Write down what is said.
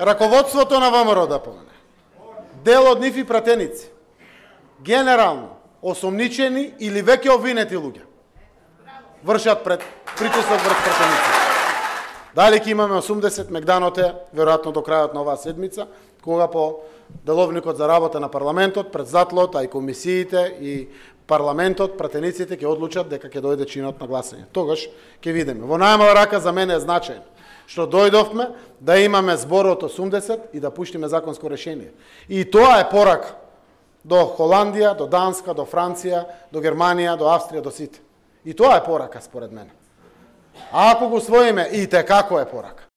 раководството на ВМРО ДПМН, дел од нив и пратеници, генерално осомничени или веќе обвинети луѓе, вршат притисок врз пратеници. Дали ќе имаме 80, мегданот е, веројатно до крајот на оваа седмица, кога по деловникот за работа на парламентот, председателот, а и комисиите и парламентот, пратениците ќе одлучат дека ќе дојде чинот на гласање. Тогаш ќе видиме. Во најмала рака за мене е значајно што дојдовме да имаме збор од 80 и да пуштиме законско решение. И тоа е порака до Холандија, до Данска, до Франција, до Германија, до Австрија, до сите. И тоа е порака според мене. А ако го усвоиме, и те како е порака.